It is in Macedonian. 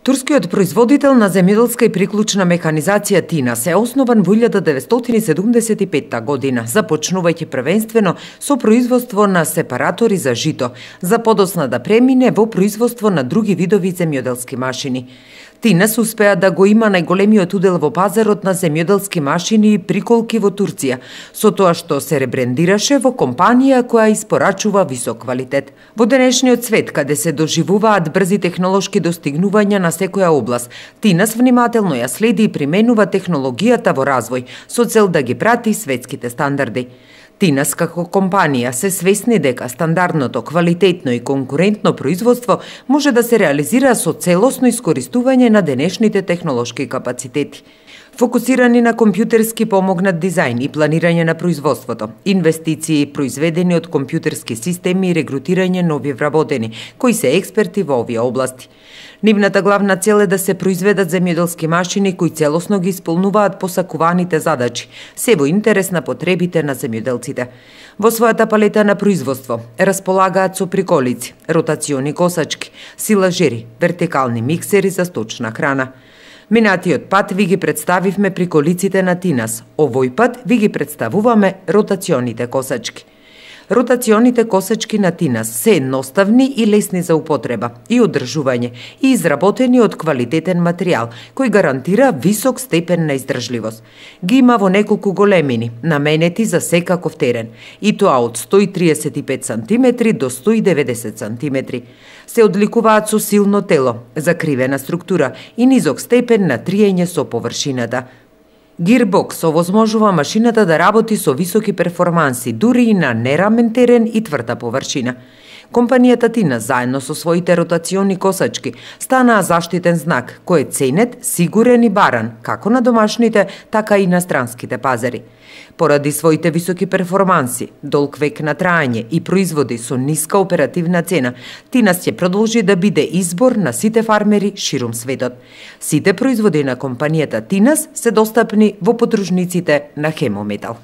Турскиот производител на земјоделска и приклучна механизација Тинас е основан во 1975 година, започнувајќи првенствено со производство на сепаратори за жито, за подосна да премине во производство на други видови земјоделски машини. Тинас успеа да го има најголемиот удел во пазарот на земјоделски машини и приколки во Турција, со тоа што се ребрендираше во компанија која испорачува висок квалитет. Во денешниот свет, каде се доживуваат брзи технолошки достигнувања на секоја област, Тинас внимателно ја следи и применува технологијата во развој, со цел да ги прати светските стандарди. Тинас како компанија се свесни дека стандардното, квалитетно и конкурентно производство може да се реализира со целосно искористување на денешните технолошки капацитети. Фокусирани на компјутерски помогнат дизајн и планирање на производството, инвестиции произведени од компјутерски системи и регрутирање нови вработени, кои се експерти во овие области. Нивната главна цел е да се произведат земјоделски машини кои целосно ги исполнуваат посакуваните задачи, се во интерес на потребите на земјоделците. Во својата палета на производство располагаат со приколици, ротациони косачки, силажери, вертикални миксери за сточна храна. Минатиот пат ви ги представивме приколиците на Тинас, овој пат ви ги представуваме ротационите косачки. Ротационите косачки на Тинас се едноставни и лесни за употреба и одржување и изработени од квалитетен материјал, кој гарантира висок степен на издржливост. Ги има во неколку големини, наменети за секаков терен, и тоа од 135 см до 190 см. Се одликуваат со силно тело, закривена структура и низок степен на триење со површината. Гирбокс овозможува машината да работи со високи перформанси, дури и на нерамен терен и тврда површина. Компанијата Тинас заедно со своите ротациони косачки станаа заштитен знак, кој е ценет, сигурен и баран, како на домашните, така и на странските пазари. Поради своите високи перформанси, долг век на траење и производи со ниска оперативна цена, Тинас ќе продолжи да биде избор на сите фармери ширум светот. Сите производи на компанијата Тинас се достапни во потружниците на Хемометал.